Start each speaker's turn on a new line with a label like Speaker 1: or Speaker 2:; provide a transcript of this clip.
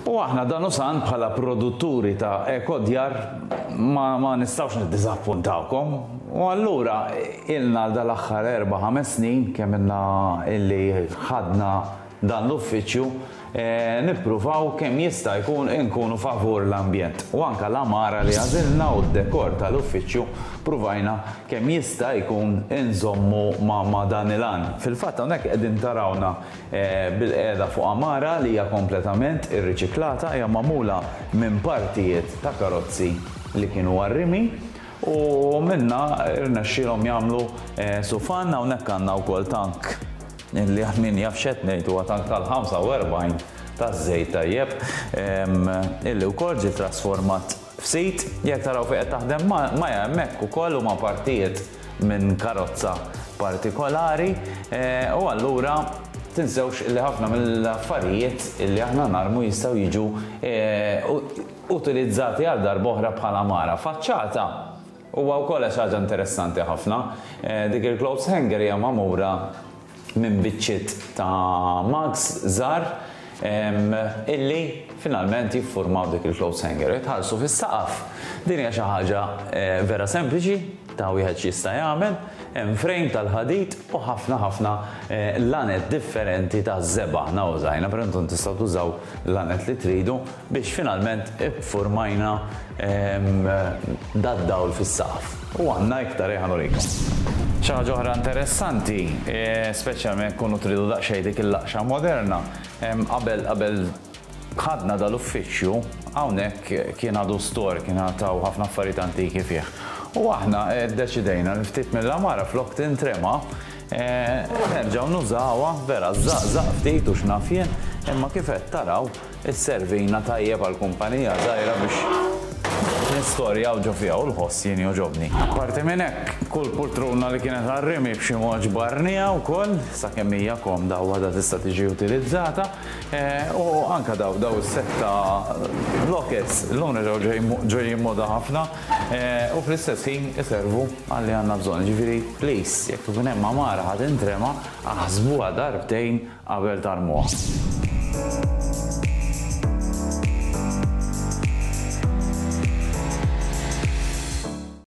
Speaker 1: U aħna dan u san bħala produtturi ta' Ekodjar ma, ma nistgħux niddiżappuntawkom. U allura ilna dal-aħħar 4-5 snin kemm ilna illi ħadna dan l-uffiċċju eh, nippruvaw kemm jista' jkun inkunu favur l-ambjent. U anka l-għamara li għażilna u d-dekor tal-uffiċċju pruvajna kemm jista' jkun inżommu ma', ma dan il-għan. Fil-fatt hawnhekk qegħdin tarawna eh, bil-qiegħda fuq għamara li hija kompletament irriċiklata, hija magħmula minn partijiet ta' karozzi li kienu għar-rimi u minna rnexxielhom jagħmlu eh, sufan. Hawnhekk għandna wkoll tank li għal min jaf x'qed ngħid huwa tank tal-45 taż-żejt tajjeb illi wkoll ġie trasformat f'sit. Jekk taraw fejn qed taħdem Maja hemmhekk ukoll huma partijiet minn karozza partikolari u allura tinsewx li ħafna mill-affarijiet illi aħna narmu jistgħu jiġu utilizzati għal darb'oħra bħala għamara. Faċċata huwa wkoll xi ħaġa interessanti ħafna. Dik il-clothes hanger hija magħmura minn biċċiet ta' mugs żgħar illi finalment jiffurmaw dik il-clothes hanger. Jitħallsu fis-saqaf. Din hija xi ħaġa vera sempliċi ta' wieħed x'jista' jagħmel. Hemm frame tal-ħadid u ħafna ħafna lanet differenti ta' żebgħa aħna użajna, però intom tistgħu tużaw lanet li tridu biex finalment iffurmajna dad-dawl fis-saqaf. U għandna iktar, ejja nurikom. Xi ħaġa oħra interessanti, speċjalment jekk tkunu tridu daqsxejn dik il-laqxa moderna, qabel qabel ħadna dal-uffiċċju, hawnhekk kien għadu store, kien għad hawn ħafna affarijiet antiki fih. U aħna ddeċidejna li ftit mill-għamara flok tintrema, nerġgħu nużawha, vera żżaqżaq ftit u x'naf jien, imma kif qed taraw, Isservina tajjeb għal kumpanija żgħira biex nistorjaw ġo fiha u l-ħoss jien jogħġobni. Apparti minn hekk, kull pultruna li kienet għar-rimi b'xi mod ġbarniha wkoll, sakemm hija komda u għadha tista' tiġi utilizzata. U anke daw daw is-sett ta' lockets illum reġgħu ġejjin moda ħafna u fl-istess ħin iservu għal li għandna bżonn. Jiġifieri please, jekk ikun hemm għamara ħa tintrema, aħsbuha darbtejn qabel tarmuha.